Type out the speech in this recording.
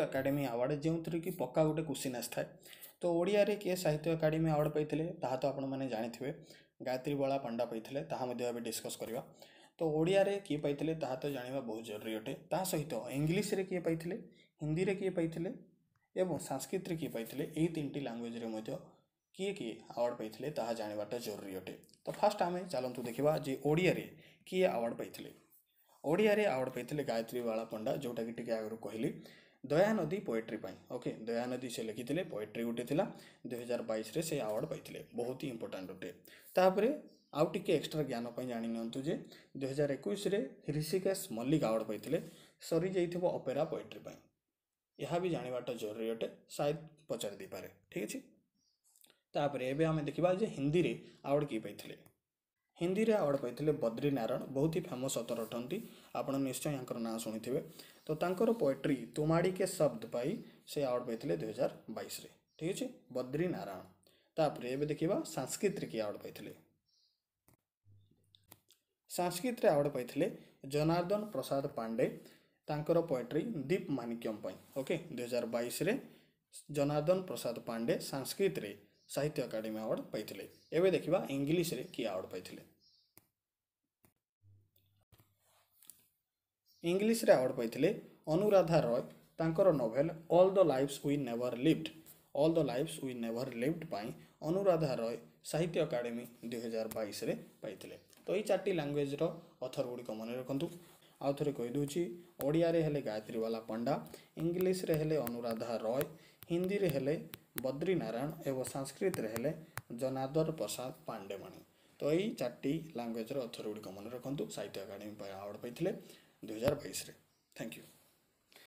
Academy award, ଯେଉଁଥିରେ କି ପକ୍କା ଗୋଟେ କ୍ୱେଶ୍ଚିନ୍ ଆସିଥାଏ। ତ ଓଡ଼ିଆରେ କିଏ ସାହିତ୍ୟ ଏକାଡେମୀ ଆୱାର୍ଡ଼ ପାଇଥିଲେ ତାହା ତ ଆପଣମାନେ ଜାଣିଥିବେ, ଗାୟତ୍ରୀ ବାଳା ପଣ୍ଡା ପାଇଥିଲେ, ତାହା ମଧ୍ୟ ଏବେ ଡିସ୍କସ୍ କରିବା। ତ ଓଡ଼ିଆରେ କିଏ ପାଇଥିଲେ ତାହା ତ ଜାଣିବା ବହୁତ ଜରୁରୀ ଅଟେ। ତା ସହିତ ଇଂଲିଶରେ କିଏ ପାଇଥିଲେ, ହିନ୍ଦୀରେ କିଏ ପାଇଥିଲେ ଏବଂ ସାଂସ୍କ୍ରିଟରେ କିଏ ପାଇଥିଲେ, ଏହି ତିନିଟି ଲାଙ୍ଗୁଏଜରେ ମଧ୍ୟ କିଏ କିଏ ଆୱାର୍ଡ଼ ପାଇଥିଲେ ତାହା ଜାଣିବାଟା ଜରୁରୀ ଅଟେ। ତ ଫାଷ୍ଟ ଆମେ ଚାଲନ୍ତୁ ଦେଖିବା ଯେ ଓଡ଼ିଆରେ କିଏ ଆୱାର୍ଡ଼ ପାଇଥିଲେ। ଓଡ଼ିଆରେ ଆୱାର୍ଡ଼ ପାଇଥିଲେ ଗାୟତ୍ରୀ ବାଳା ପଣ୍ଡା, ଯେଉଁଟାକି ଟିକେ ଆଗରୁ କହିଲି, ଦୟାନଦୀ ପୋଏଟ୍ରି ପାଇଁ। ଓକେ, ଦୟାନଦୀ ସେ ଲେଖିଥିଲେ, ପୋଏଟ୍ରି ଗୋଟେ ଥିଲା, 2022ରେ ସେ ଆୱାର୍ଡ଼ ପାଇଥିଲେ, ବହୁତ ହି ଇମ୍ପୋର୍ଟାଣ୍ଟ ଅଟେ। ତାପରେ ଆଉ ଟିକେ ଏକ୍ସଟ୍ରା ଜ୍ଞାନ ପାଇଁ ଜାଣି ନିଅନ୍ତୁ ଯେ 2021ରେ ହୃଷିକେଶ ମଲ୍ଲିକ ଆୱାର୍ଡ଼ ପାଇଥିଲେ ସରିଯାଇଥିବ ଅପେରା ପୋଏଟ୍ରି ପାଇଁ। ଏହା ବି ଜାଣିବାଟା ଜରୁରୀ ଅଟେ, ସାୟଦ ପଚାରି ଦେଇପାରେ। ଠିକ୍ ଅଛି, ତାପରେ ଏବେ ଆମେ ଦେଖିବା ଯେ ହିନ୍ଦୀରେ ଆୱାର୍ଡ଼ କିଏ ପାଇଥିଲେ। ହିନ୍ଦୀରେ ଆୱାର୍ଡ଼ ପାଇଥିଲେ ବଦ୍ରି ନାରାୟଣ, ବହୁତ ହି ଫେମସ୍ ଅଥର ଅଟନ୍ତି, ଆପଣ ନିଶ୍ଚୟ ୟାଙ୍କର ନାଁ ଶୁଣିଥିବେ। ତ ତାଙ୍କର ପୋଏଟ୍ରି ତୁମାଡ଼ି କେ ଶବ୍ଦ ପାଇ ସେ ଆୱାର୍ଡ଼ ପାଇଥିଲେ 2022ରେ। ଠିକ୍ ଅଛି, ବଦ୍ରି ନାରାୟଣ। ତାପରେ ଏବେ ଦେଖିବା ସାଂସ୍କ୍ରିଟରେ କିଏ ଆୱାର୍ଡ଼ ପାଇଥିଲେ। ସାଂସ୍କ୍ରିଟରେ ଆୱାର୍ଡ଼ ପାଇଥିଲେ ଜନାର୍ଦ୍ଦନ ପ୍ରସାଦ ପାଣ୍ଡେ, ତାଙ୍କର ପୋଏଟ୍ରି ଦୀପ ମାଣିକ୍ୟମ ପାଇଁ। ଓକେ, 2022ରେ ଜନାର୍ଦ୍ଦନ ପ୍ରସାଦ ପାଣ୍ଡେ ସାଂସ୍କ୍ରିଟରେ ସାହିତ୍ୟ ଏକାଡେମୀ ଆୱାର୍ଡ଼ ପାଇଥିଲେ। ଏବେ ଦେଖିବା ଇଂଲିଶରେ କିଏ ଆୱାର୍ଡ଼ ପାଇଥିଲେ। ଇଂଲିଶରେ ଆୱାର୍ଡ଼ ପାଇଥିଲେ ଅନୁରାଧା ରୟ, ତାଙ୍କର novel all the lives we never lived, all the lives we never lived ପାଇଁ ଅନୁରାଧା ରୟ ସାହିତ୍ୟ ଏକାଡେମୀ 2022ରେ ପାଇଥିଲେ। ତ ଏଇ ଚାରିଟି ଲାଙ୍ଗୁଏଜର ଅଥର ଗୁଡ଼ିକ ମନେ ରଖନ୍ତୁ। ଆଉ ଥରେ କହିଦେଉଛି, ଓଡ଼ିଆରେ ହେଲେ ଗାୟତ୍ରୀ ବାଲା ପଣ୍ଡା, ଇଂଲିଶରେ ହେଲେ ଅନୁରାଧା ରୟ, ହିନ୍ଦୀରେ ହେଲେ ବଦ୍ରି ନାରାୟଣ ଏବଂ ସାଂସ୍କ୍ରିଟରେ ହେଲେ ଜନାର୍ଦ୍ଦନ ପ୍ରସାଦ ପାଣ୍ଡେମଣି। ତ ଏଇ ଚାରିଟି ଲାଙ୍ଗୁଏଜର ଅଥର ଗୁଡ଼ିକ ମନେ ରଖନ୍ତୁ, ସାହିତ୍ୟ ଏକାଡେମୀ ପାଇଁ ଆୱାର୍ଡ଼ ପାଇଥିଲେ 2022ରେ। Thank you.